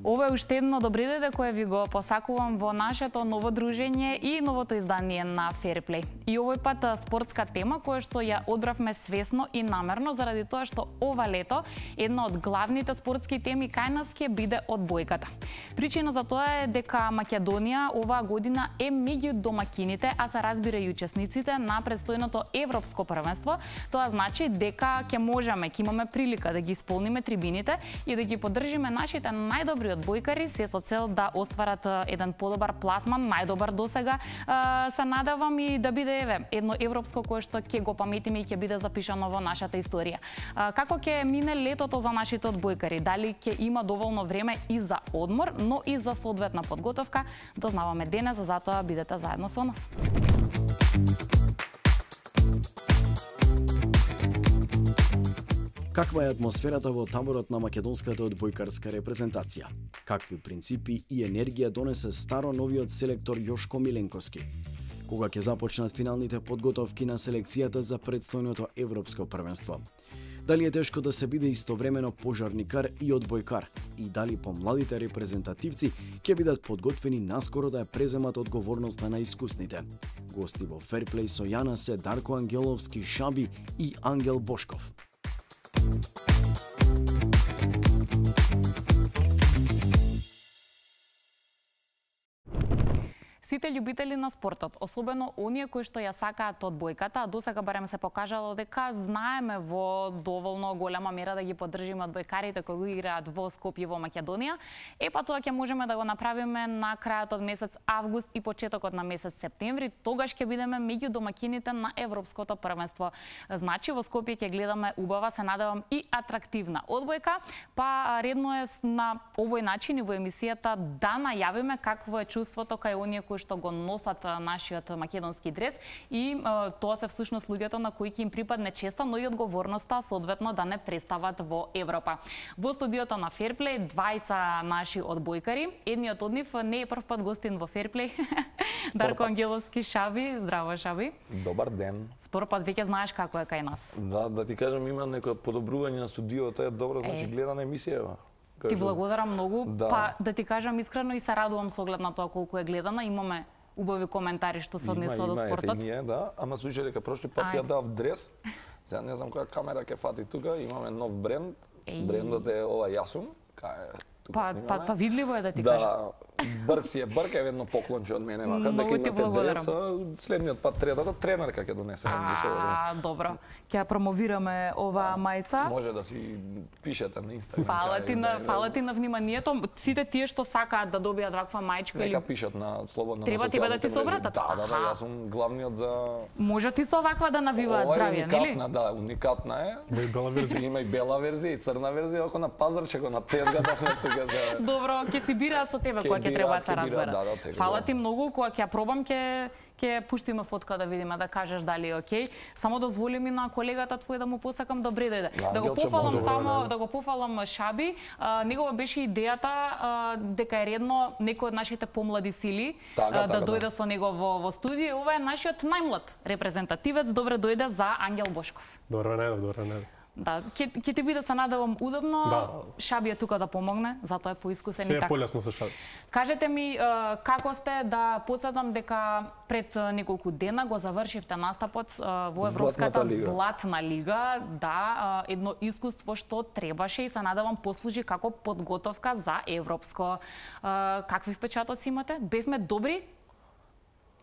Ова е уште едно добри дојде кое ви го посакувам во нашето ново дружење и новото издание на Fairplay. И овој пат спортска тема која што ја одбравме свесно и намерно заради тоа што ова лето една од главните спортски теми кај нас ќе биде одбојката. Причина за тоа е дека Македонија оваа година е меѓу домакините, а се разбира и учесниците на предстојното европско првенство. Тоа значи дека ќе можеме, ќе имаме прилика да ги исполниме трибините и да ги поддржиме нашите најдобри одбојкари се со цел да остварат еден подобар пласман, најдобар досега. Се надевам и да биде едно европско кое што ќе го паметиме и ќе биде запишано во нашата историја. Како ќе мине летото за нашите одбојкари? Дали ќе има доволно време и за одмор, но и за соодветна подготовка? Дознаваме денес, затоа бидете заедно со нас. Каква е атмосферата во таборот на македонската одбојкарска репрезентација? Какви принципи и енергија донесе старо новиот селектор Јошко Миленковски? Кога ќе започнат финалните подготовки на селекцијата за предстојното европско првенство? Дали е тешко да се биде истовремено пожарникар и одбојкар? И дали помладите репрезентативци ќе бидат подготвени наскоро да ја преземат одговорноста на искусните? Гости во Fairplay со Јана се Дарко Ангеловски Шаби и Ангел Бошков. Сите љубители на спортот, особено оние кои што ја сакаат одбојката, а досега барем се покажало дека знаеме во доволно голема мера да ги поддржиме одбојкарите кои играат во Скопје во Македонија, па тоа ќе можеме да го направиме на крајот од месец август и почетокот на месец септември. Тогаш ќе бидеме меѓу домакините на европското првенство. Значи во Скопје ќе гледаме убава, се надевам и атрактивна одбојка, па редно е на овој начин и во емисијата да најавиме какво е чувството кај оние кои што го носат нашиот македонски дрес и тоа се всушност луѓето на кои ќе им припадне честа, но и одговорноста соодветно да не представат во Европа. Во студиото на Fairplay двајца наши одбојкари, едниот од нив не е прв пат гостин во Fairplay. Дарко Ангеловски Шаби, здраво Шаби. Добар ден. Втор пат веќе знаеш како е кај нас. Да ти кажам, има некој подобрување на студиото, е добро, значи гледана емисија. Ти благодарам многу, па да ти кажам искрено и се радувам со оглед на тоа колку е гледана, имаме убави коментари што се однесува до спортот. Има, да, ама слушај дека прошли пат ја дав дрес, сега не знам која камера ќе фати тука, имаме нов бренд, брендот е ова Јасум, кај Па видливо е да ти кажам. Да, Брк си е Брк, е едно поклонче од мене, вака, дека имате дрес, следниот пат третата тренерка ќе донесе. Добро, ќе промовираме оваа мајца. Може да си пишете на Инстаграм. Фала ти на вниманието. Сите тие што сакаат да добијат ваква мајчка или нека пишат на слободно. Треба тебе да ти се обратат. Да, јас сум главниот за Може ти со ваква да навиваат здравје, нели? Да, уникатна е. Има и бела верзија. Има и бела верзија и црна верзија, ако на пазарче го на тезга да сме тука за. Добро, ќе си бираат со тебе кога ќе треба да се разберат. Фала ти многу, кога ќе пробам ќе пуштиме фотка да видиме, да кажеш дали е окей. Само дозволи ми на колегата твој да му посакам добре дојде. Да го пофалам само, да го пофалам Шаби. Негова беше идејата дека е редно некој од нашите помлади сили да дојде со него во студио. Ова е нашиот најмлад репрезентативец. Добре дојде за Ангел Бошков. Добро не. Да, ќе ти биде се надевам удобно. Да. Шаби е тука да помогне, затоа е поискусен и така. Се е полесно со Шаби. Кажете ми како сте, да подсетам дека пред неколку дена го завршивте настапот во Европската Златна лига. Да, едно искуство што требаше и се надевам послужи како подготовка за европско. Какви впечатоци имате? Бевме добри?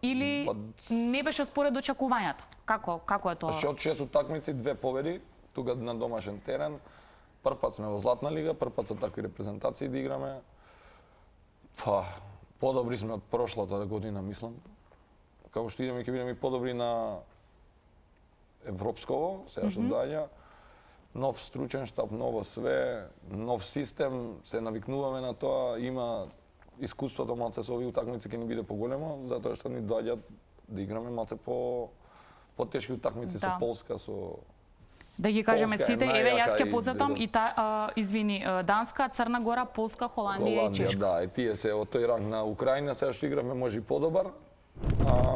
Или не беше според очекувањата? Како е тоа? Од 6 утакмици 2 победи, тука на домашен терен. Прв пат сме во Златна лига, прв пат со такви репрезентации да играме. Па, подобри сме од прошлата година, мислам. Како што идеме, ќе бидеме и подобри на европсково, сега што доаѓа. Нов стручен штаб, ново све, нов систем, се навикнуваме на тоа, има искуството малце со овие утакмици ќе ни биде поголемо, затоа што ни доаѓаат да играме малце по-тешки утакмици со Полска, со Да ги кажеме сите, еве јас ќе подсетам и извини, Данска, Црна Гора, Полска, Холандија и Чешка. Да, и тие се од тој ранг на Украина, сега што играме може и подобар.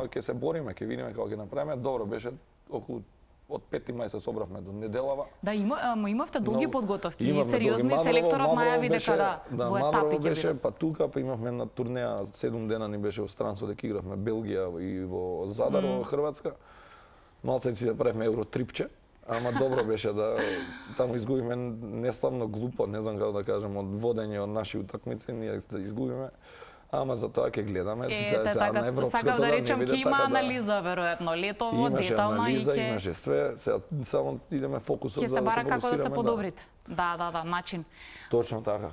Ќе се бориме, ќе видиме како ќе направиме. Добро беше околу од 5 мај се собравме до неделава. Да, имавте долги подготовки, имавме сериозни, долги. селекторот Маврово најави дека во етапи Маврово ќе беше, биде. па тука, па имавме една турнеја, 7 дена ни беше во странство, дека игравме Белгија и во Задар, во Хрватска. Малце си да правиме Евротрипче, ама добро беше да таму изгубиме неславно глупо, не знам како да кажем, од водење од наши утакмици, ние да изгубиме. Ама за тоа ќе гледаме така, на европското сакав да речем не ќе биде има така анализа веројатно летово, детална анализа, и ќе имаше све, сега само идеме фокусот ќе за се да бара како да се фокусираме, подобрите. Да, начин. Точно така.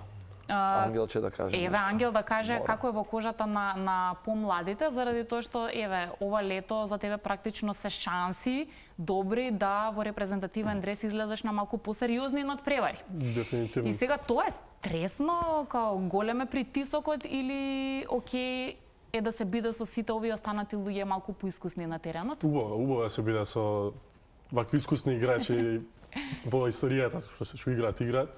Ангелче да каже. Еве, нешто. Ангел да каже Мора. како е во кожата на помладите, заради тоа што, еве, ова лето за тебе практично се шанси добри да во репрезентативен дрес излезеш на малку посериозни надпревари. Дефинитивно. И сега тоа е стресно, као голем е притисокот или окей е да се биде со сите овие останати луѓе малку поискусни на теренот? Убаво е се биде со вакви искусни играчи во историјата што играат.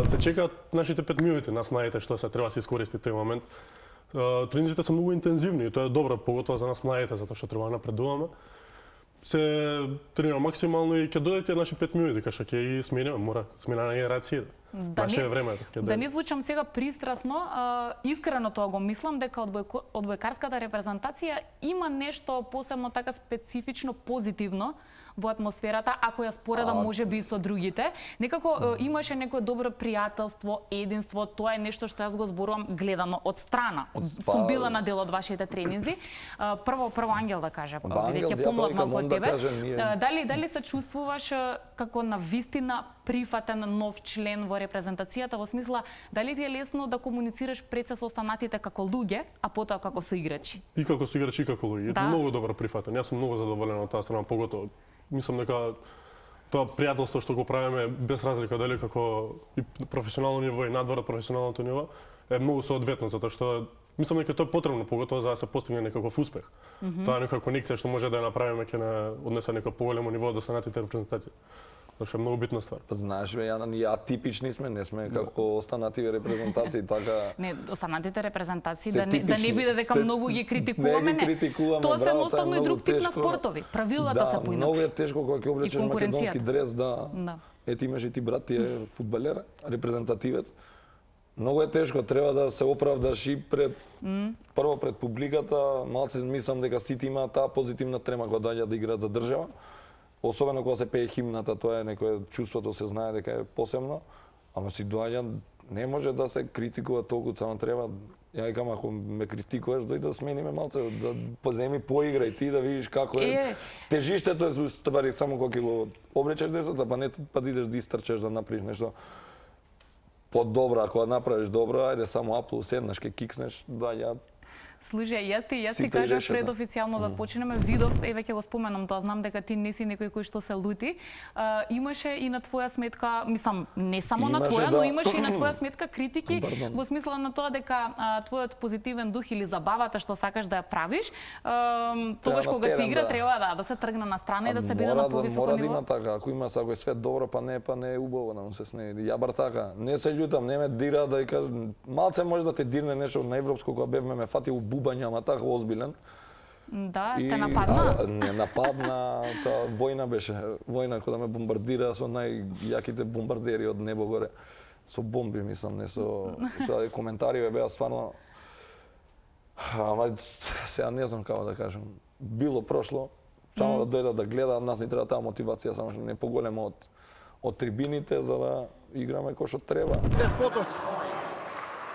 Се чекаат нашите 5 минути, нас младите што се треба да се искористи тој момент. Тренинзите се многу интензивни и тоа е добро, поготово за нас младите, затоа што треба да напредуваме. Се тренира максимално и ќе додете наши 5 минути, кај што ќе ги смениме, мора смена на генерација. Наше е времето. Да не звучам сега пристрасно, искрено тоа го мислам дека одбојкарската репрезентација има нешто посебно така специфично позитивно во атмосферата, ако ја споредам можеби и со другите. Некако имаше некое добро пријателство, единство, тоа е нешто што јас го зборувам гледано од страна. Сум била на дел од вашите тренинзи. Прво Ангел да каже, бидејќи помлад малку од тебе. Дали се чувствуваш како на вистина прифатен нов член во репрезентацијата, во смисла дали ти е лесно да комуницираш пред се со останатите како луѓе, а потоа како со играчи? И како со играчи и како луѓе. Да. Многу добро прифатен. Јас сум многу задоволен од таа страна, поготово. Мислам дека тоа пријателство што го правиме без разлика дали како и професионално ниво и надвор од професионалното ниво е многу соодветно, затоа што мислам дека тоа е потребно, поготово за да се постигне некаков успех. Тоа е некаква конекција што може да ја направиме ќе на однесе некој поголемо ниво од останатите репрезентации. Тоа што е многу битна ствар. Па знаеш бе, Јана, ние атипични сме, не сме како останативе репрезентации, така. Не, останатите репрезентации Се да не типични. биде дека многу ги критикуваме, Не ги критикуваме, тоа се браво, едноставно тоа е и друг многу тип на тешко. спортови. Правилата се поиначни. Многу е тешко кога ќе облечеш македонски дрес, да. Ете имаш и ти брат, ти е фудбалер, репрезентативец. Многу е тешко, треба да се оправдаш и пред прво пред публиката, малце мислам дека сите имаат таа позитивна трема кога доаѓаат да играат за држава. Особено кога се пее химната, тоа е некое чувството се знае дека е посебно, ама си доаѓа не може да се критикува толку, само треба ја викам ако ме критикуваш дојди да смениме малце, да поземи поиграј ти да видиш како е. Тежиштето е ствари само кога ќе го облечеш десото, па не па да идеш да истрчеш да направиш нешто подобро, ако направиш добро, ајде само аплу седнаш, ќе кикснеш, доаѓаат. Слушај, јас ти кажав пред официјално да почнеме, видов, еве ќе го споменам тоа, знам дека ти не си некој кој што се лути. Имаше и на твоја сметка, мислам, не само на твоја, но имаше и на твоја сметка критики во смисла на тоа дека твојот позитивен дух или забавата што сакаш да ја правиш, тогаш кога се игра треба да се тргне на страна и да се биде на повисоко ниво. Мора да има така, ако има ако е све добро, па не е убаво да му се снеди. Ја бар така, не се љутам, не ме дира да кажа, малце може да те дирне нешто на европско кога бевме ме фати бубања, ама така озбилен. Да, те нападна? Не нападна, тоа војна беше. Војна кога ме бомбардира со најјаките бомбардери од небо горе. Со бомби, мислам, не со коментари беа стварно. Ама сега не знам како да кажам. Било прошло, само да дојдат да гледаат, нас ни треба таа мотивација, само што не поголема од трибините за да играме кој што треба. Деспотовски.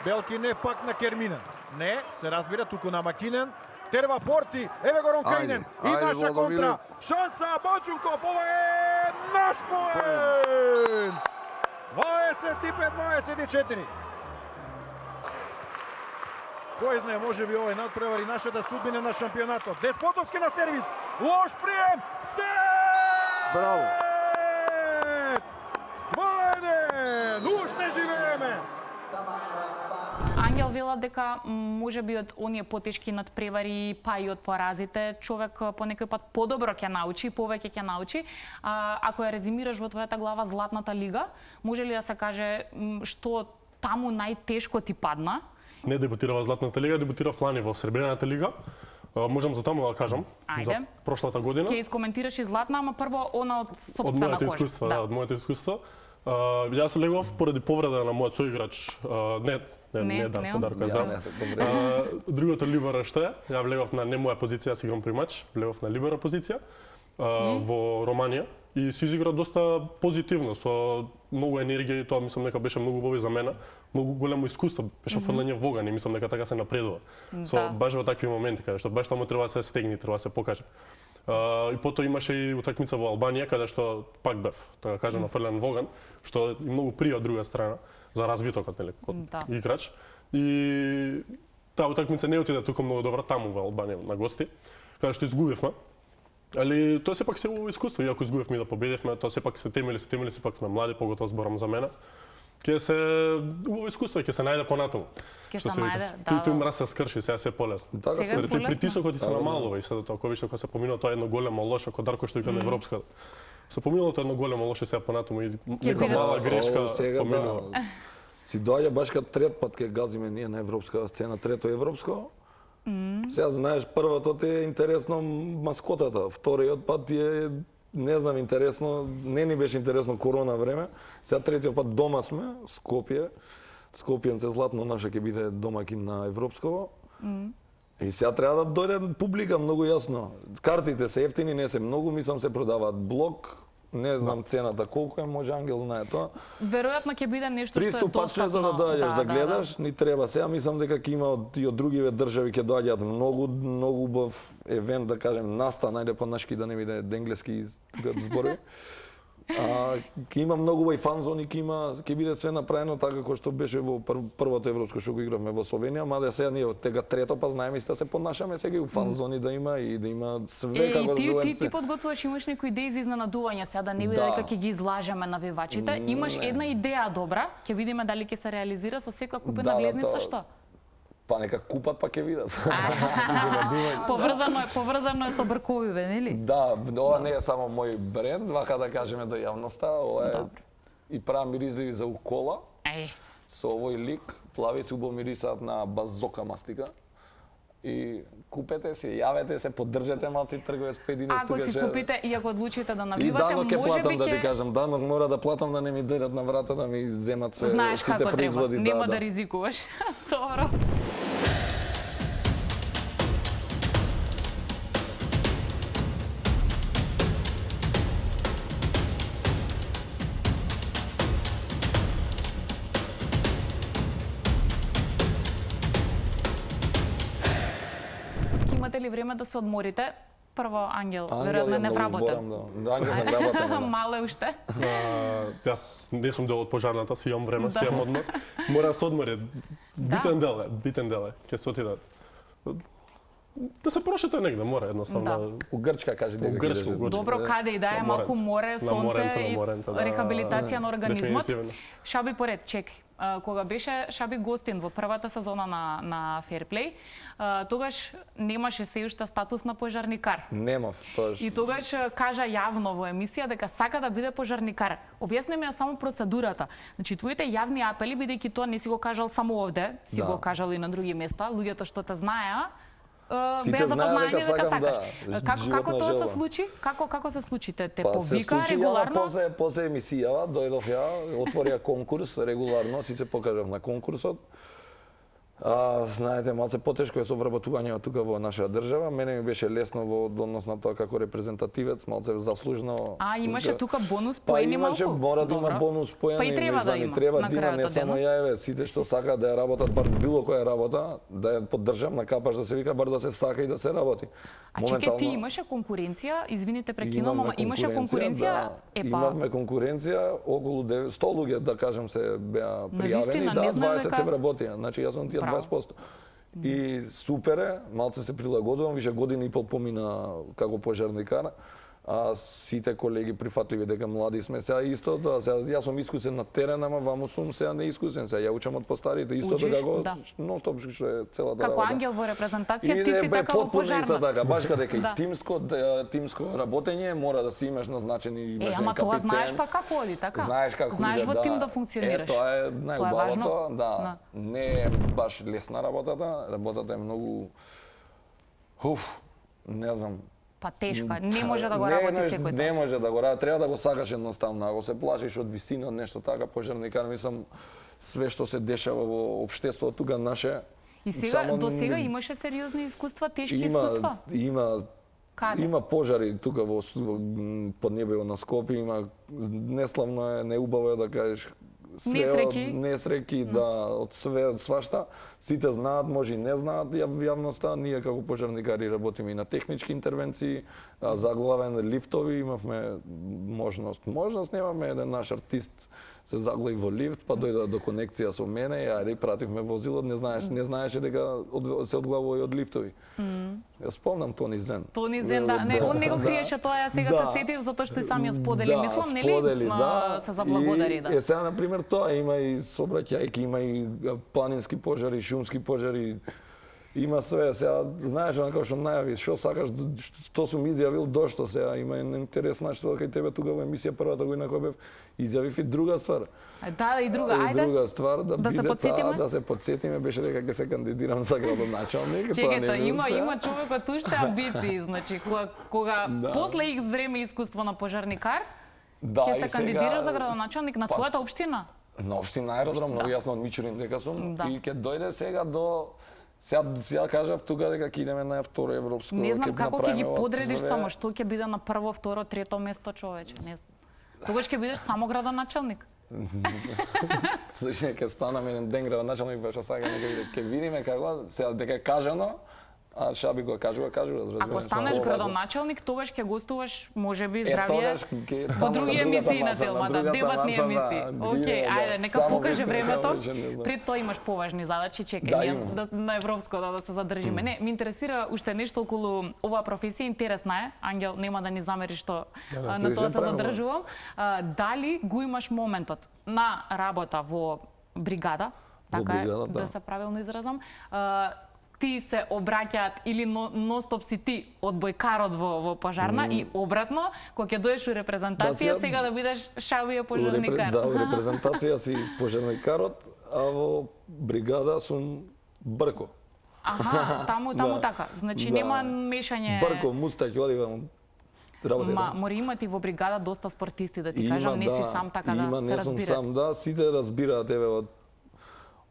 Белки не пак на Керминен. Не, се разбира туку на Макинен. Терва Порти, еве го Ронкајнен. И наша контра. Шанса Бочунков, ова е наш поен! 25-24. Кој знае, може би овој надпревари нашата судбина на шампионатот. Деспотовски на сервис. Лош прием. Браво. 2-1. Уште живееме. Ангел вела дека може би од оние потешки надпревари, па и од поразите, човек по некој пат подобро ќе научи, повеќе ќе научи. Ако ја резимираш во твојата глава Златната лига, може ли да се каже што таму најтешко ти падна? Не дебутира во Златната лига, дебутира Флани во Сребрената лига. Можам за таму да кажам. Ајде. За прошлата година. Ќе искоментираш и Златна, ама прво она од сопствена од моите кожа. искуства, да, од моите искуства. Јас легов поради повреда на мојот соиграч, Дарко е здрав. Другото либера што е, ја влегов на не моја позиција, јас играм примач, влегов на либера позиција во Романија и се изигра доста позитивно, со многу енергија и тоа мислам дека беше многу убаво за мене, многу големо искуство, беше фрлање во оган и мислам дека така се напредува. Со баш во такви моменти каде што баш таму треба да се стегне, треба да се покаже. И потоа имаше и утакмица во Албанија каде што пак бев, така кажам, нафрлен во оган, што и многу прија од друга страна за развитокот, нели, код играч. И таа утакмица не отиде туку многу добра таму во Албанија на гости, каде што изгубивме. Али тоа сепак се убаво искуство, иако изгубивме да победивме, тоа сепак се темели, сепак сме млади, поготово зборам за мене. Ќе се убаво искуство, ќе се најде понатаму. Ќе се најде, Тој мраз се скрши, сега се полесно. Рече притисокот и се намалува и сега тоа кога више кога се поминува тоа едно големо лошо, кога Дарко што вика на европска. Се поминува тоа едно големо лошо сега понатаму и нека мала грешка поминува. Си доаѓа баш кад трет пат ке газиме ние на европска сцена, трето европско. Сега знаеш, првото ти е интересно маскотата, вториот пат ти е не знам интересно, не ни беше интересно корона време. Сега третиот пат дома сме, Скопје. Скопјенце Златно наше ќе биде домакин на европсково. И сега треба да дојде публика многу јасно. Картите се ефтини, не се многу, мислам се продаваат блок. Не знам цената колку е, може Ангел знае тоа. Веројатно ќе биде нешто што е достапно. За да доаѓаш да гледаш, ни треба. Сега мислам дека ќе има и од другиве држави ќе доаѓаат многу убав евент, да кажем, настан, најде по-нашки да не биде енглески зборови. Ќе има многу убави фанзони, ќе биде све направено така како што беше во првото европско што го игравме во Словенија, мада сега ние од тега трето па знаеме исто се понашаме сега и у фанзони да има и да има све како ти подготвуваш, имаш некои идеи за изненадување, сега да не биде дека ќе ги излажеме навивачите. Имаш една идеја добра, ќе видиме дали ќе се реализира со секоја купена влезница што? Па нека купат па ќе видат. Поврзано е со брковиве, нели? Да, ова не е само мој бренд, вака да кажеме до јавноста, ова е и правам миризливи за укола. Со овој лик, плави се убаво мирисаат на базока мастика. И купете се, јавете се, поддржете малци трговец 5 дни. Ако си купите и ако одлучите да навивате, можеби ќе платам, да ти кажам, данок мора да платам да не ми дојдат на врата да ми земат се сите производи. Нема да ризикуваш. Добро. Имате ли време да се одморите? Прво Ангел, веројатно не вработен. Ангел не вработен. Мале уште. Јас не сум дел од пожарната, си имам време, си имам одмор. Мора да се одмори. Битен дел е. Ќе се отида. Да се прошете негде, мора едноставно. У Грчка, кажи дека ќе идеш. Добро, каде и да е, малку море, сонце и рехабилитација на организмот. Шаби поред, чекај. Кога беше Шаби гостин во првата сезона на Fairplay, тогаш немаше се уште статус на пожарникар. Немав, тоаш. И тогаш кажа јавно во емисија дека сака да биде пожарникар. Објасни ми ја само процедурата. Значи, твоите јавни апели, бидејќи тоа не си го кажал само овде, си го кажал и на други места, луѓето што те знаеа, беа запознаени дека сакаш. Како тоа се случи? Како се случи? Те повика регуларно? После емисијава дојдов ја, отворија конкурс регуларно, си се покажав на конкурсот. Знаете, малце потешко е со вработувањето тука во нашата држава. Мене ми беше лесно во однос на тоа како репрезентативец, малце заслужено. Имаше тука бонус поени малку? Имаше, мора да има бонус поени. Па и треба да има. Треба да има, не само ја сите што сакаат да ја работат, бар било која работа, да ја поддржам на капаш да се вика, бар да се сака и да се работи. Чекај, ти имаше конкуренција, извините прекинувам, ама имаше конкуренција? Имавме конкуренција, околу 100 луѓе, да кажам, се беа пријавени, да, 20 се вработија. Значи јас сум тие 20%. И супер е, малце се прилагодувам, више година и пол помина како пожарникар. Сите колеги прифатливи дека млади сме, сега исто тоа, сега јас сум искусен на терен, ама ваму сум сега неискусен, сега ја учам од постарите, исто како нон-стоп што е целата работа. Како Ангел во репрезентација, ти си така во пожарна. Така, баш дека и тимско работење мора да си имаш назначени имаш капитен. Ама тоа знаеш па како оди, така? Знаеш како знаеш во тим да функционираш. Тоа е најубавото, да. Не е баш лесна работата е многу Не знам. Па тешка, не може да го работи секој. Не може да го работи, треба да го сакаш едноставно. Ако се плашиш од висина, од нешто така, пожарникар, мислам, све што се дешава во општеството тука наше. И сега, до сега имаше сериозни искуства, тешки искуства? Има пожари тука во поднебево на Скопје, има неславно е, неубаво е да кажеш, несреки, да, од све, од свашта. Сите знаат, може и не знаат јавноста. Ние како пожарникари работиме и на технички интервенции, заглавен лифтови, имавме можност. Немаме еден наш артист се заглави во лифт, па дојде до конекција со мене, ајде пративме возилот, не знаеше дека се одглавува и од лифтови. Ја спомнам Тони Зен. Тони Зен, да, не, он не го криеше тоа, ја сега се сетив затоа што и сам ја сподели, мислам, нели? Се заблагодари, да. Сега на пример тоа има и сообраќајки, има и планински пожари, шумски пожари. Има све, сега знаеш онака што најави, што сакаш, што сум изјавил, дошто сега има интересна што кај тебе тука во емисија првата година која бев, изјавив и друга ствар. Да, и друга, ајде. Друга ствар да се подсетиме. Да се подсетиме беше дека ќе се кандидирам за градоначалник. Чекајте, има човекот уште амбиции, значи кога после X време искуство на пожарникар, ќе се кандидираш за градоначалник на твојата општина. На општина Аеродром, многу јасно од Мичурин дека сум и ќе дојде сега до Сега кажав тука дека ќе идеме на второ европско. Не знам како ќе ги подредиш само, што ќе биде на прво, второ, трето место, човече. Тогаш ќе бидеш само градоначалник. Слушај, ќе станам еден ден градоначалник, па што сакаме ќе видиме како сега дека е кажано. А Шаби го кажува, разбираш. Ако станеш градоначалник, тогаш ќе гостуваш, можеби, здравје во други емисии на телмата, дебатни емисии. Океј, ајде, нека покаже времето. Пред тоа имаш поважни задачи, чекај, на европско да се задржиме. Не, ми интересира уште нешто околу оваа професија, интересна е. Ангел, нема да ни замери што на тоа се задржувам. Дали го имаш моментот на работа во бригада, така е, да се правилно изразам, ти се обраќаат или ностоп си ти одбојкарот во пожарна и обратно, кога ќе доеш у репрезентација, сега да бидеш Шабија пожарникар. Да, во репрезентација си пожарникарот, а во бригада сум Брко. Аха, таму така. Значи нема мешање. Брко, мустаќ, одивам. Мора имати во бригада доста спортисти, да ти кажам, не си сам така да се разбира. Не сум сам, да, сите разбираат еве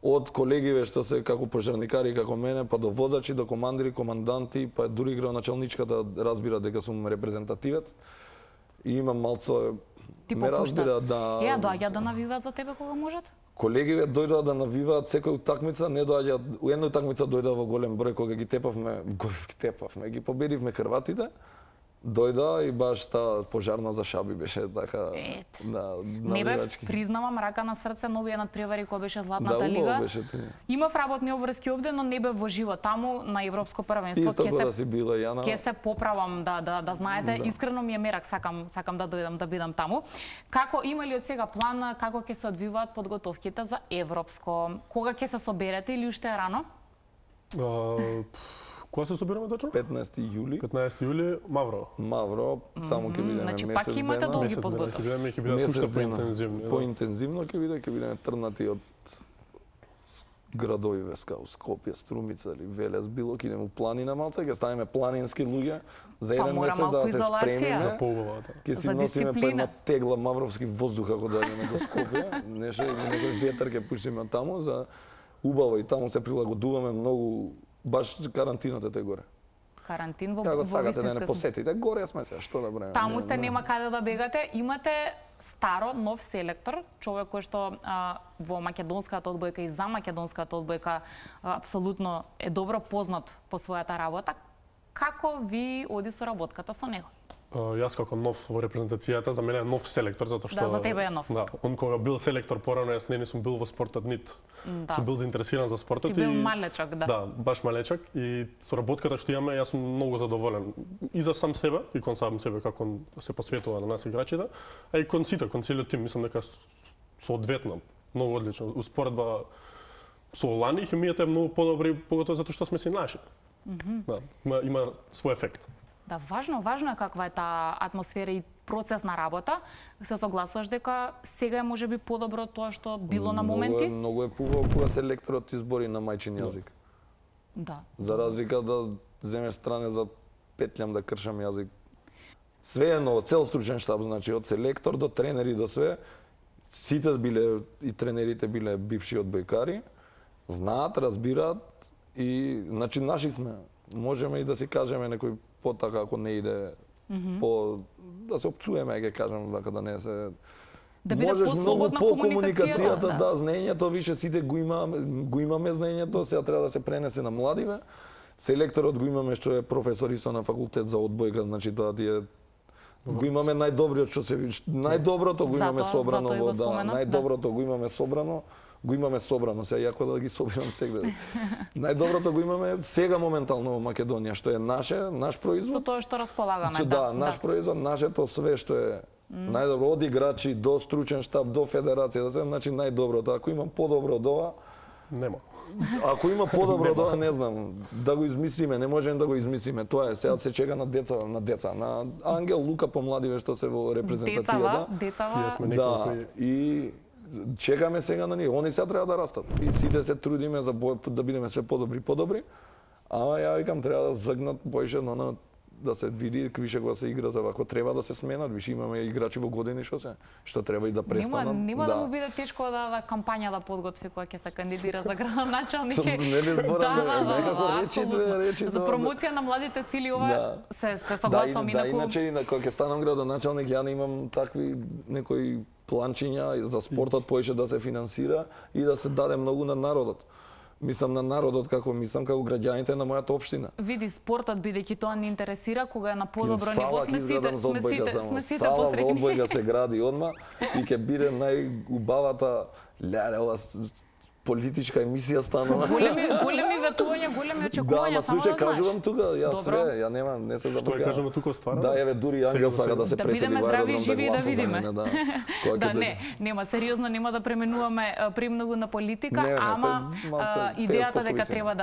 од колегиве што се како пожарникари како мене, па до возачи, до командири, команданти, па дури градоначалничката разбира дека сум репрезентативец. И имам малце ме разбира да доаѓаат да навиваат за тебе кога можат? Колегиве дојдоа да навиваат секој утакмица, не доаѓаат, у една утакмица дојдоа во голем број кога ги ги победивме хрватите. Дојда и баш таа пожарна за Шаби беше така не бев, признавам, рака на срце, новиот надпревари која беше Златната лига. Имав работни обврски овде, но не бев во живо таму на европско првенство. Ќе се поправам да знаете, искрено ми е мерак, сакам да дојдам да бидам таму. Како има ли од сега план како ќе се одвиваат подготовките за европско? Кога ќе се соберете или уште е рано? Кога се собираме точно? 15 јули. 15 јули, Мавро. Мавро, таму ќе бидеме месец дена. Значи пак имате долги подготовки. Ќе бидат уште поинтензивни. Поинтензивно ќе бидеме трнати од градови као Скопје, Струмица или Велес, било ќе идеме у планина малце, ќе ставиме планински луѓе за еден месец да се спремиме. За побава, Ќе си носиме по една тегла мавровски воздух ако дојдеме до Скопје, некој ветер ќе пуштиме таму за убаво и таму се прилагодуваме многу. Баш карантината е горе. Карантин во вистинска. Како сакате да не посетите, горе сме се, што да бреме. Таму сте, нема каде да бегате. Имате старо, нов селектор, човек кој што во македонската одбојка и за македонската одбојка апсолутно е добро познат по својата работа. Како ви оди соработката со него? Јас како нов во репрезентацијата, за мене е нов селектор, затоа што... Да, за тебе е нов. Да, он кога бил селектор порано, јас не сум бил во спортот нит. Сум бил заинтересиран за спортот. Ти бил малечок, да. Да, баш малечок. И соработката што имаме, јас сум многу задоволен. И за сам себе, и кон сам себе, како се посветува на нас играчите, а и кон сите, кон целиот тим. Мислам дека соодветно, многу одлично. Успоредба со лани, хемијата е многу подобра, поготово затоа што сме се наши. Да, има свој ефект. Да, важно е каква е таа атмосфера и процес на работа. Се согласуваш дека сега е можеби подобро тоа што било на моменти? Многу е поубаво кога селекторот избори на мајчин јазик. Да. За разлика да земеш стране за петлям да кршам јазик. Све едно, цел стручен штаб, значи од селектор до тренери до све, сите биле и тренерите биле бивши одбојкари, знаат, разбираат и значи наши сме. Можеме и да си кажеме некој потака ако не иде по да се опцуеме, ќе кажам, дека да не се да биде послободна комуникацијата, да, знаењето више сите го имаме знаењето, сега треба да се пренесе на младиве. Селекторот го имаме што е професор исто на факултет за одбојка, значи тоа ти е го имаме најдобриот што се најдоброто го имаме собрано во најдоброто го имаме собрано. Го имаме собрано, сега јако да ги собирам сегде. Најдоброто го имаме сега моментално во Македонија, што е наш производ. Со тоа што располагаме, да. Наш производ, нашето све што е најдобро, од играчи до стручен штаб, до федерација, да се, значи најдоброто. Ако има подобро од ова, нема. Ако има подобро од ова, не знам, да го измислиме, не можеме да го измислиме. Тоа е, сега се чека на деца, на Ангел, Лука помладиве што се во репрезентацијата. Децава. Да, и чекаме сега на нив. Они сега треба да растат. И сите се трудиме за да бидеме све подобри. Ама ја викам треба да загнат поише на да се види више кога се игра за вако треба да се сменат, више имаме играчи во години што треба и да престанат. Нема да му биде тешко да кампања да подготви кога ќе се кандидира за градоначалник. Нели зборам некако речи за промоција на младите сили ова се согласувам инаку. Да, иначе кога ќе станам градоначалник ја немам такви некои планчиња за спортот поише да се финансира и да се даде многу на народот. Мислам на народот како граѓаните на мојата општина. Види спортот бидејќи тоа не интересира кога е на подобро ниво сме сите сала за одбојка се гради одма и ќе биде најубавата ова политичка емисија станува. Големи ветувања, големи очекувања, само да знаеш. Кажувам тука, ја све, ја немам, не се забавам. Што е кажано тука стварно? Да, еве дури Ангел сака да се пресели во аеродром да живи и да видиме. Да, нема сериозно, нема да преминуваме премногу на политика, ама идејата дека треба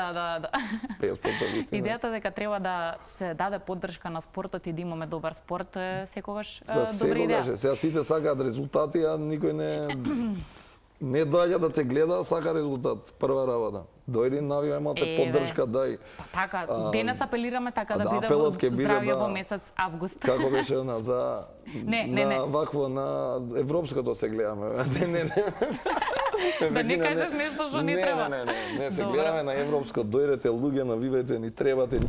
идејата дека треба да се даде поддршка на спортот и да имаме добар спорт е секогаш добра идеја. Сега сите сакаат резултати, а никој не доаѓа да те гледа, сака резултат. Прва работа. Дојди, навивај малце поддршка, дај. Така, денес апелираме така да биде во здравје во месец август. Како беше за вакво на европското се гледаме. Да не кажеш нешто што не треба. Не, се гледаме на европско. Дојдете луѓе, навивајте, ни требате.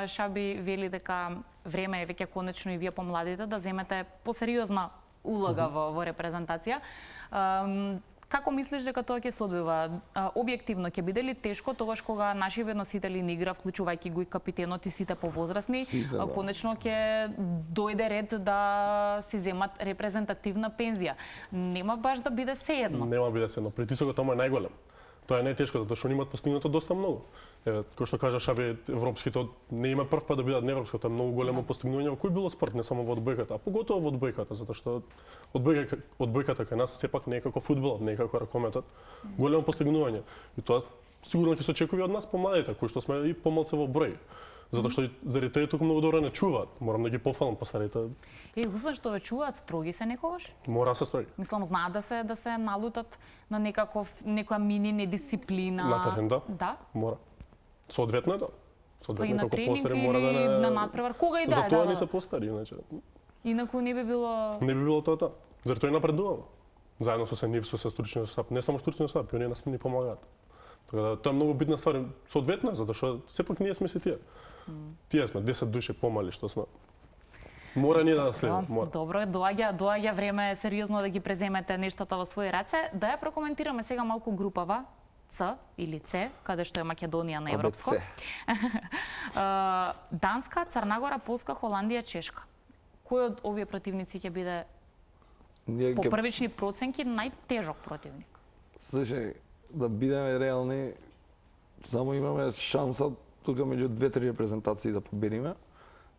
Шаби вели дека време е веќе конечно и вие помладите да земете посериозна улога во репрезентација. Како мислиш дека тоа ќе се одвива? Објективно ќе биде ли тешко тогаш кога наши носители на игра, вклучувајќи го и капитенот и сите повозрасни, конечно ќе дојде ред да си земат репрезентативна пензија? Нема баш да биде сеедно. Нема биде сеедно. Притисокот тоа е најголем. Тоа е најтешко, затоа што имаат постигнато доста многу. Кој што кажа Шаби, европските не има прв пат да бидат на европско, тоа е многу големо постигнување во кој било спорт, не само во одбојката, а поготово во одбојката, затоа што одбојката кај нас сепак не е како фудбалот, не е како ракометот, големо постигнување. И тоа сигурно ќе се очекува од нас помладите, кои што сме и помалце во број. Затоа што заради тоа туку многу добро не чуваат. Морам да ги пофалам постарите. Мислам што ве чуваат, строги се некогаш? Мора да се строги. Мислам знаат да се налутат на некоја мини недисциплина. На терен, да. Да. Мора. Соодветно е да. Соодветно како постари мора да не на надпревар. Кога и да. Затоа не се постари, иначе. Инаку не би било. Не би било тоа. Затоа и напредуваме. Заедно со нив, со стручниот штаб, не само стручниот штаб, и оние нас ни помагаат. Така да тоа е многу битна ствар, соодветно, затоа што сепак ние сме се тие. Тие сме 10 души помали што сме. Мора ние да следиме, мора. Добро, доаѓа време сериозно да ги преземете нештата во своји раце. Да ја прокоментираме сега малку групава Ц или С, каде што е Македонија на европско. Данска, Црна Полска, Холандија, Чешка. Кој од овие противници ќе биде по првични проценки најтежок противник? Слушај, да бидеме реални, само имаме шанса тука меѓу 2-3 репрезентации да победиме.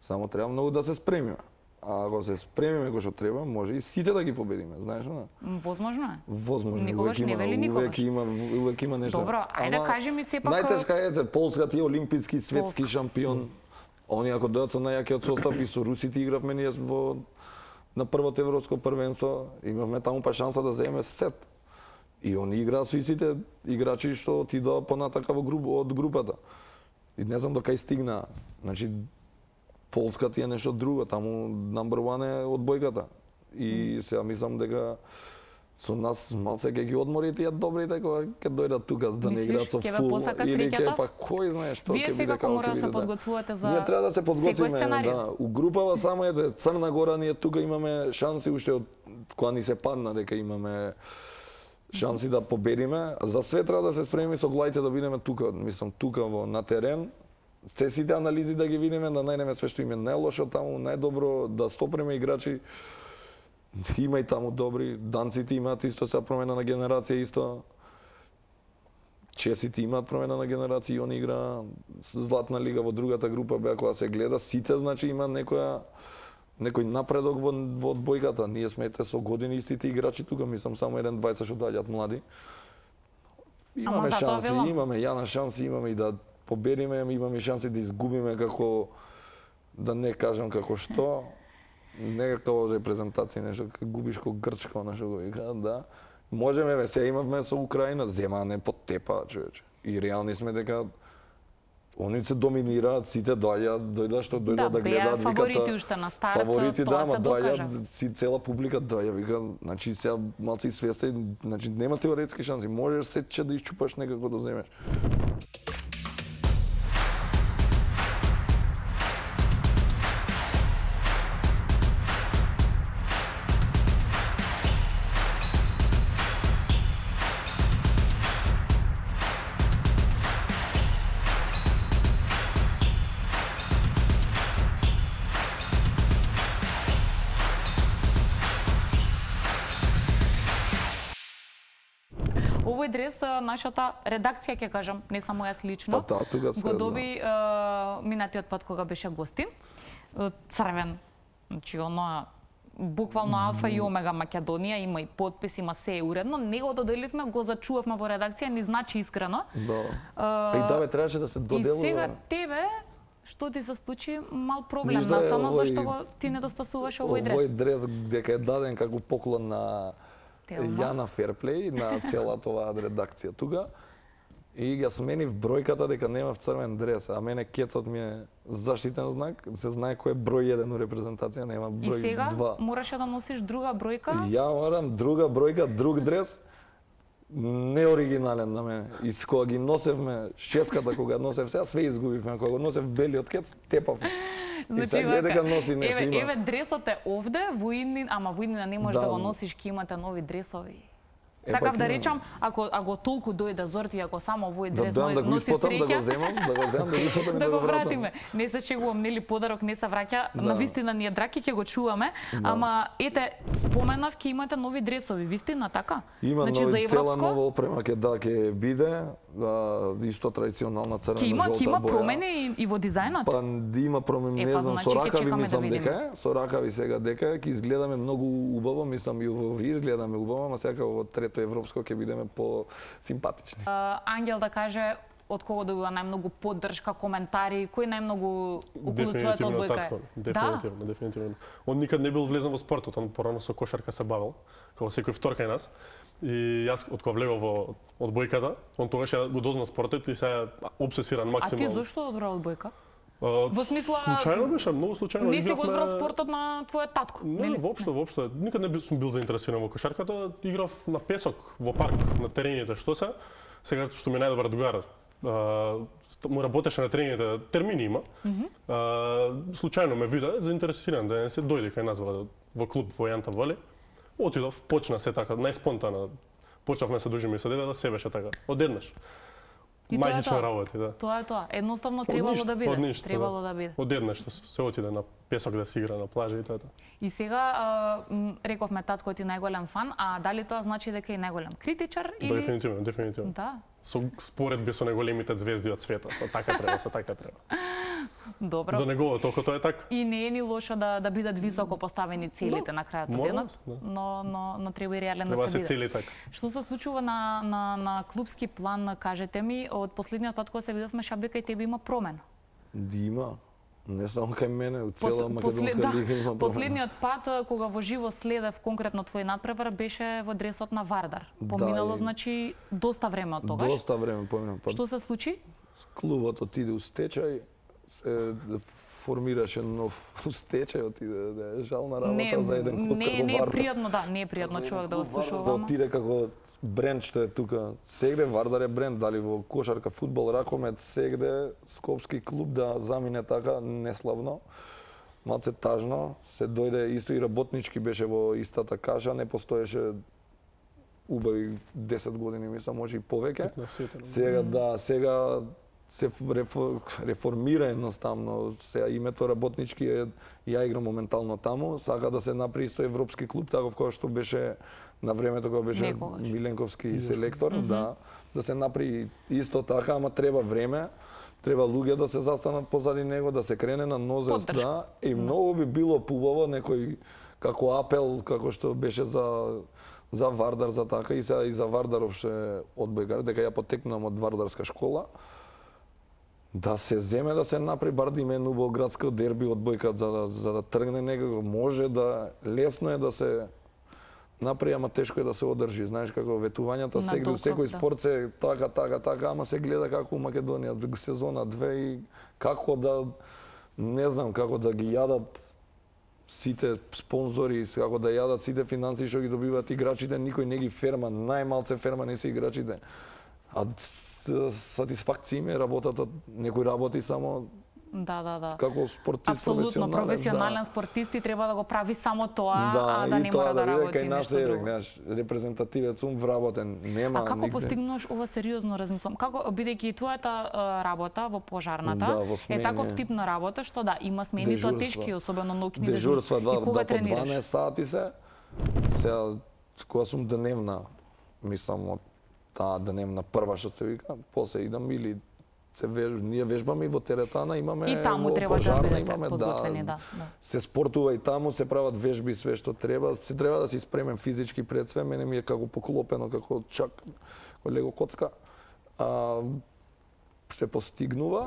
Само треба многу да се спремиме. А ако се спремиме кој што треба, може и сите да ги победиме, знаеш, не? Возможно е. Возможно. Никогаш не вели никогаш. Увек има нешто. Добро, ајде кажи ми сепак. Најтешка е Полска, ти олимписки, светски шампион. Они ако дојдат со најакиот состав и со русите игравме ние на првото европско првенство, имавме таму па шанса да земеме сет. И они играат со истите играчи што отидоа понатака од групата. И не знам до кај стигна. Значи Полска ти е нешто друго, таму number one е одбојката. И сега мислам дека со нас малце ќе ги одмори тие добрите кога ќе дојдат тука да не играат со фул или ќе па кој знае што ќе биде. Вие сега кога мора да се подготвувате за ние треба да се подготвиме, да. У групава само е Црна Гора, ние тука имаме шанси уште од кога ни се падна дека имаме шанси да победиме. За све треба да се спремиме со главите да бидеме тука, мислам тука на терен. Сите анализи да ги видиме, да најдеме све што им е најлошо таму, најдобро, да стопреме играчи. Има и таму добри, данците имаат исто сега промена на генерација исто. Чесите имаат промена на генерација и они игра Златна лига во другата група беа кога се гледа, сите значи има некој напредок во одбојката. Ние сме со години истите играчи тука, мислам само еден двајца што доаѓаат млади. Имаме шанси, имаме јана шанси, имаме и да победиме, имаме шанси да изгубиме како да не кажам како што. Не како репрезентација, нешто како губиш ко Грчка, нешто го играат, да. Можеме, се имавме со Украина, зема не потепа, човече. И реални сме дека они се доминираат, сите дојдат што дојдат да гледаат, викат. Фаворити уште на старт, фаворити, тоа се докажа. Доаѓаат, цела публика доаѓа, вика, значи сега малци свесте, значи нема теоретски шанси, можеш сече да исчупаш некако да земеш. Овој дрес нашата редакција, ќе кажам, не само јас лично, го доби минатиот пат кога беше гостин. Црвен, значи оно буквално алфа и омега Македонија, има и подпис, има се уредно. Не го доделивме, го зачувавме во редакција, ни значи искрено. Да. И да бе, требаше да се доделува. И сега тебе, што ти се случи, мал проблем настана, зашто ти недостасуваше овој дрес? Овој дрес дека е даден како поклон на Јана Ферплей, на целата оваа редакција тука. И ја сменив бројката дека немав црвен дрес, а мене кецот ми е заштитен знак, се знае кој е број 1 у репрезентација, нема број 2. И сега мораше да носиш друга бројка? Ја морам друга бројка, друг дрес, неоригинален на мене. И кога ги носевме, шеската кога носев сега, све изгубивме. Кога го носев белиот кец, тепавме. Значи, и сега гледа дека носи нешто има. Еве дресот е овде, во Иднин, ама во Иднина не можеш да го носиш, ки имате нови дресови. Сакав да речам, ако толку дојде Зорти, ако само овој дрес носи среќа, да го земам, да го вратиме. Не се шегувам, нели подарок не се враќа, на вистина ние драки ќе го чуваме, ама ете споменав ќе имате нови дресови, вистина така? Има нови, цела нова опрема ќе биде, исто традиционална црвена жолта боја. Ќе има промени и во дизајнот? Па има промени, не знам, со ракави мислам дека, со ракави сега дека ќе изгледаме многу убаво, мислам и во изгледаме убаво, ама сега во трето европско ќе бидеме по симпатични. Ангел да каже од кого добива најмногу поддршка, коментари, кој најмногу околу твојата одбојка е? Дефинитивно, дефинитивно. Он никад не бил влезен во спортот, он порано со кошарка се бавил, како секој втор кај нас. И јас од кога влегов во одбојката, он тогаш ја го дозна спортот и сега обсесиран максимално. А ти зошто одбра одбојка? Во смисла случајно беше, многу случајно. Не си го одбрал спортот на твојот татко? Не, воопшто. Никад не сум бил заинтересиран во кошарката. Играв на песок, во парк, на терените, што се. Сега што ми најдобар другар, му работеше на терените, термини има. Случајно ме виде, заинтересиран да не се дојде кај нас во клуб во Јанта Вали. Отидов, почна се така, најспонтано. Почнавме се дружиме со дедата, се беше така, одеднаш. Мајчична работа, да. Тоа е тоа. Едноставно требало да биде. Требало да биде. Одеднаш се отиде на песок да се игра на плажа и тоа. И сега рековме татко ти најголем фан, а дали тоа значи дека е најголем критичар или Дефинитивно, дефинитивно. Да. Со споредби со најголемите звезди од светот, со така треба. Добро. За негово, толку тоа е така. И не е ни лошо да бидат високо поставени целите на крајот од денот, да. но треба и реален Треба да се се биде. цели така. Што се случува на клубски план, кажете ми, од последниот пат кога се видовме Шабека и тебе има промена? Има. Не само кај мене, у цела македонска лига има промена. Последниот пат кога во живо следев конкретно твој надпревар беше во дресот на Вардар. Поминало значи доста време од тогаш. Доста време поминало. Што се случи? Клубот отиде у стечај, се формираше нов стечај, отиде да е жална работа за еден клуб како Вардар. Не е пријатно, да, не е пријатно човек да го слуша Да отиде како бренд што е тука. Сегде Вардар е бренд, дали во кошарка, фудбал, ракомет, сегде скопски клуб да замине така неславно. Малце тажно, се дојде исто и работнички беше во истата каша, не постоеше убави 10 години, мислам, може и повеќе. Сега се реформира едноставно. Сега името работнички е, ја играм моментално таму, сака да се направи исто европски клуб, таков кој што беше на времето кога беше Миленковски селектор, да се направи исто така, ама треба време, треба луѓе да се застанат позади него, да се крене на нозес, да, и многу би било пубаво некој како апел, како што беше за Вардар, за така и за Вардаровше одбојкар, дека ја потекнувам од Вардарска школа, да се земе да се направи бар да име Нубоградско дерби одбојка за да тргне некако, може да лесно е да се направи, ама тешко е да се одржи. Знаеш како ветувањата сегде секој спорт се така, ама се гледа како у Македонија сезона 2 и како да не знам како да ги јадат сите спонзори, како да јадат сите финансии што ги добиваат играчите, никој не ги ферма, најмалце ферма не се играчите. А сатисфакција им е работата, некој работи само како спортист апсолутно професионален спортист и треба да го прави само тоа, а да не мора да работи нешто друго. Знаеш, репрезентативец сум вработен, нема нигде. А како постигнуваш ова сериозно размислам? Како бидејќи твојата работа во пожарната е таков тип на работа што има смени, тоа тешки, особено ноќни дежурства, и кога тренираш? 12 сати се. Сега кога сум дневна, мислам од таа дневна прва што се вика, после идам или ние вежбаме и во теретана, имаме и таму треба пожарна, да бидете подготвени, да. Се спортува и таму, се прават вежби, све што треба. Се треба да си спремен физички пред све, мене ми е како поклопено, како чак лего коцка. Се постигнува.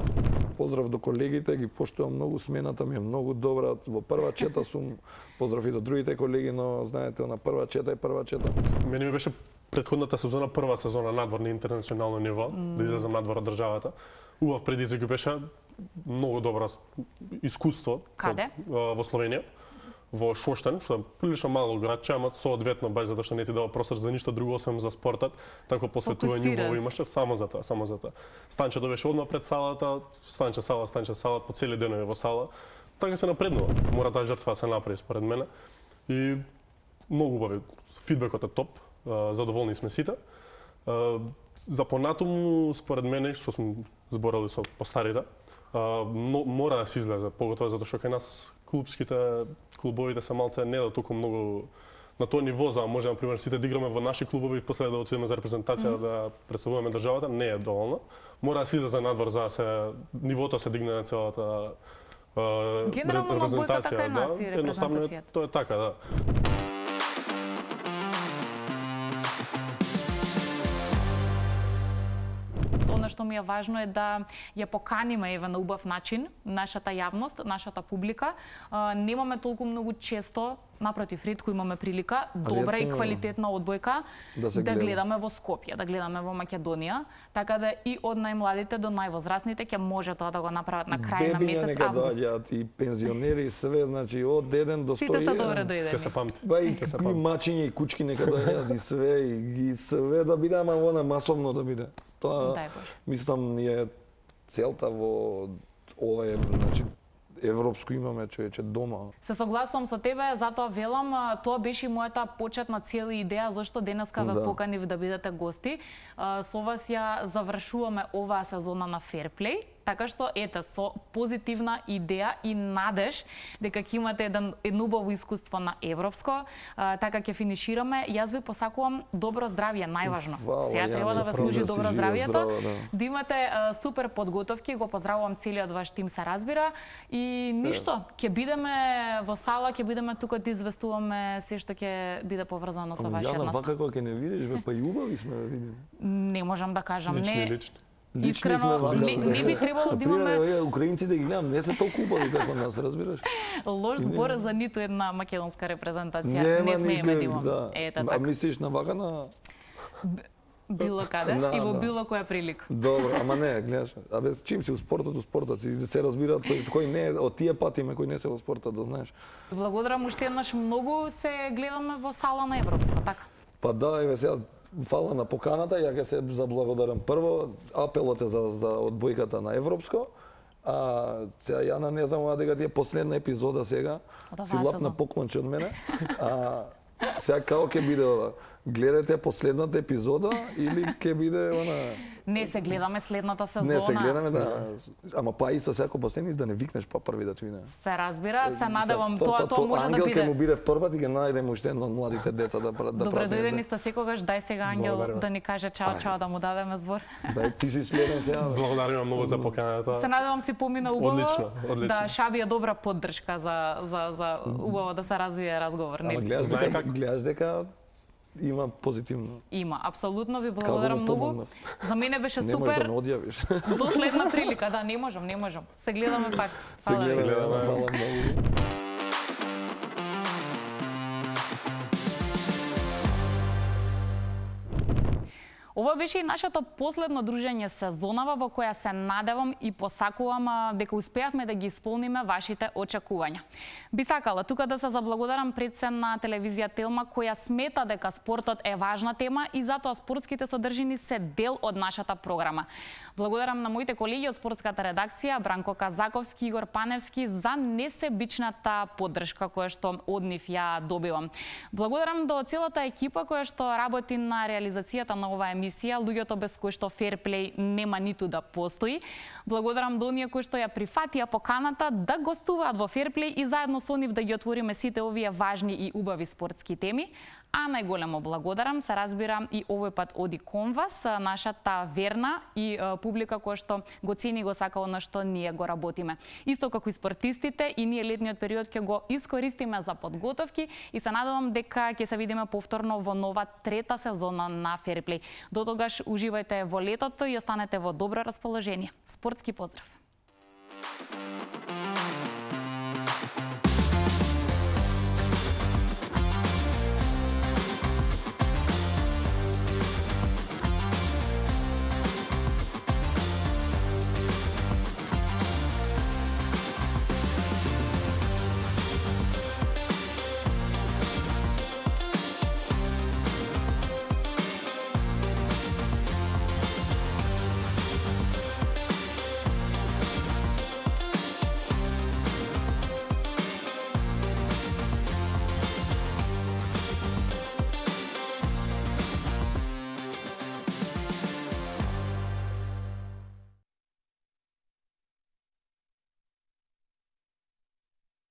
Поздрав до колегите, ги поштувам многу, смената ми е многу добра. Во прва чета сум, поздрав и до другите колеги, но знаете, на прва чета е прва чета. Мене ми беше претходната сезона, прва сезона надвор на интернационално ниво, да излезам надвор од државата. Убав предизвик беше, многу добро искуство. Каде? Во Словенија, во Шоштен, што е прилично мало градче, ама соодветно баш затоа што не ти дава простор за ништо друго освен за спортот, тако посветување убаво имаше само за тоа. Станчето беше одма пред салата, станче сала, по цели денови во сала. Така се напреднува. Мора таа жртва да се направи според мене. И многу убави. Фидбекот е топ. Задоволни сме сите. За понатаму, според мене, што сум зборал и со постарите, мора да се излезе, поготово затоа што кај нас клубовите се малце не да толку многу на тоа ниво за може например сите да играме во наши клубови и после да отидеме за репрезентација да представуваме државата, не е доволно. Мора да се излезе надвор за се нивото се дигне на целата генерално одбојката кај нас и репрезентацијата. Тоа е така, да. Што ми е важно е да ја поканиме на убав начин нашата јавност, нашата публика. Немаме толку многу често, напротив, ретко имаме прилика, добра и квалитетна одбојка да гледаме во Скопје, да гледаме во Македонија, така да и од најмладите до највозрастните ќе може тоа да го направат на крај на месец август. Бебиња нека доаѓаат и пензионери, све, значи од 1 до 100. Сите се добре дојдени. Ќе се памти. И мачиња и кучки нека доаѓаат и све да биде, ама она масовно да биде. Тоа, мислам, е целта во ова значи, европско имаме човече дома. Се согласувам со тебе, затоа велам, тоа беше и мојата почетна цел и идеја зашто денеска ве поканив да бидете гости. Со вас ја завршуваме оваа сезона на Fair Play. Така што ете со позитивна идеја и надеж дека ќе имате едно убаво искуство на европско, така ќе финишираме. Јас ви посакувам добро здравје, најважно. Сега треба да ве служи добро здравјето, да имате супер подготовки, го поздравувам целиот ваш тим, се разбира, и ништо, ќе бидеме во сала, ќе бидеме тука да известуваме се што ќе биде поврзано со вашиот настап. Јана, вака кога ќе не видиш, па и убави сме да видиме. Не можам да кажам, лични. Искрено, не би требало да имаме... Украинците ги гледам, не се толку убави како нас, разбираш? Лош збор за ниту една македонска репрезентација. Не смееме да имаме. Ете така. А мислиш на вака на... Било каде и во било која прилика. Добро, ама не, гледаш. Абе, чим си у спортот си се разбираат кој не од тие патиме кој не се во спортот, да знаеш. Благодарам уште еднаш, многу се гледаме во сала на европско, така? Па да, еве сега фала на поканата, ја ќе се заблагодарам. Прво, апелот е за одбојката на европско. Сега Јана не знам дека ти е последна епизода сега. Си лапна поклонче од мене. Сега како ќе биде ова? Гледате последната епизода или ќе биде она... Не се гледаме следната сезона. Не се гледаме, да. Ама па и со секој последни да не викнеш па први да чуине. Се разбира, се надевам тоа може да биде. Ангел ќе му биде втор пат и ќе најдеме уште едно од младите деца да пратиме. Добре дојдени сте секогаш, дај сега Ангел да ни каже чао да му дадеме збор. Дај ти си следен сега. Благодарам многу за поканата. Се надевам си помина убаво. Одлично. Да, Шаби е добра поддршка за убаво да се развие разговор, нели? Гледаш дека има позитивно. Има, апсолутно ви благодарам многу. За мене беше супер. Не можеш да ме одјавиш. До следна прилика, да, не можам. Се гледаме пак. Се гледаме, фала многу. Ова беше и нашето последно дружење сезонава во која се надевам и посакувам дека успеавме да ги исполниме вашите очекувања. Би сакала тука да се заблагодарам пред се на телевизија Телма која смета дека спортот е важна тема и затоа спортските содржини се дел од нашата програма. Благодарам на моите колеги од спортската редакција Бранко Казаковски, Игор Паневски за несебичната поддршка која што од нив ја добивам. Благодарам до целата екипа која што работи на реализацијата на оваа емисија, луѓето без кои што ферплей нема ниту да постои. Благодарам до оние кои што ја прифатија поканата да гостуваат во ферплей и заедно со нив да ги отвориме сите овие важни и убави спортски теми. А најголемо благодарам, се разбира, и овој пат оди кон вас, нашата верна и публика која што го цени и го сака она што ние го работиме. Исто како и спортистите, и ние летниот период ќе го искористиме за подготовки и се надевам дека ќе се видиме повторно во нова трета сезона на Ферплей. До тогаш уживајте во летото и останете во добро расположение. Спортски поздрав!